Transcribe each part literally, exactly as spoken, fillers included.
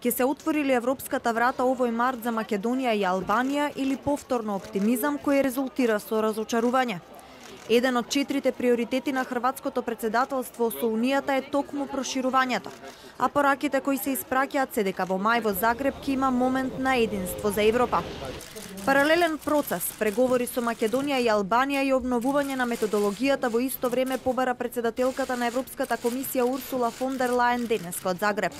Ќе се отвори ли европската врата овој март за Македонија и Албанија или повторно оптимизам кој резултира со разочарување? Еден од четирите приоритети на хрватското претседателство со Унијата е токму проширувањето, а пораките кои се испраќаат се дека во мај во Загреб ќе има момент на единство за Европа. Паралелен процес, преговори со Македонија и Албанија и обновување на методологијата во исто време побара претседателката на Европската комисија Урсула фон дер Лајен денеска од Загреб.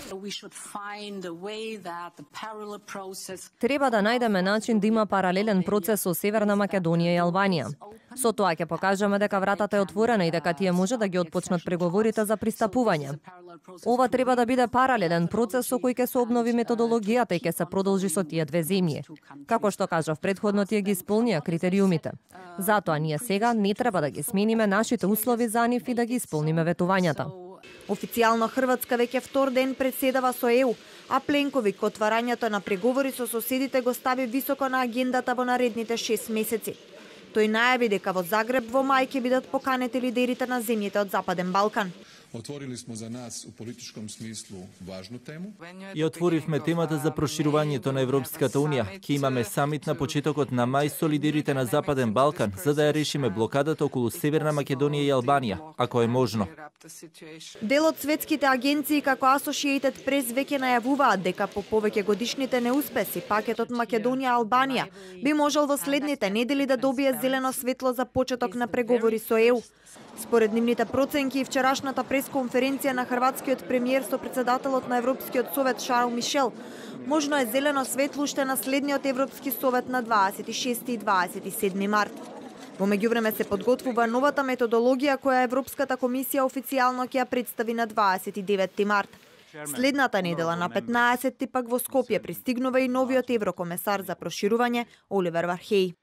Треба да најдеме начин да има паралелен процес со Северна Македонија и Албанија. Со тоа ќе покажеме дека вратата е отворена и дека тие може да ги отпочнат преговорите за пристапување. Ова треба да биде паралелен процес со кој ќе се обнови методологијата и ќе се продолжи со тие две земји. Како што кажав предходно, тие ги исполнија критериумите. Затоа ние сега не треба да ги смениме нашите услови за нив и да ги исполниме ветувањата. Официјално Хрватска веќе втор ден председава со Е У, а Пленковик отварањето на преговори со соседите го стави високо на агендата во наредните шест месеци. Тој најави дека во Загреб во мај ќе бидат поканети лидерите на земјите од Западен Балкан. Отворили смо за нас у политичком смислу важну тему. И отворивме темата за проширувањето на Европската Унија. Ќе имаме самит на почетокот на мај со лидерите на Западен Балкан, за да ја решиме блокадата околу Северна Македонија и Албанија, ако е можно. Дел од светските агенции како Associated Press веќе најавуваат дека по повеќе годишните неуспеси пакетот Македонија-Албанија би можел во следните недели да добие зелено светло за почеток на преговори со Е У. Според нивните проценки и вчерашната пресконференција на хрватскиот премиер со претседателот на Европскиот совет Шарл Мишел, можно е зелено светло уште на следниот Европски совет на дваесет и шести и дваесет и седми март. Во меѓувреме се подготвува новата методологија која Европската комисија официјално ќе ја представи на дваесет и деветти март. Следната недела на петнаесетти пак во Скопје пристигнува и новиот еврокомесар за проширување Оливер Вархеј.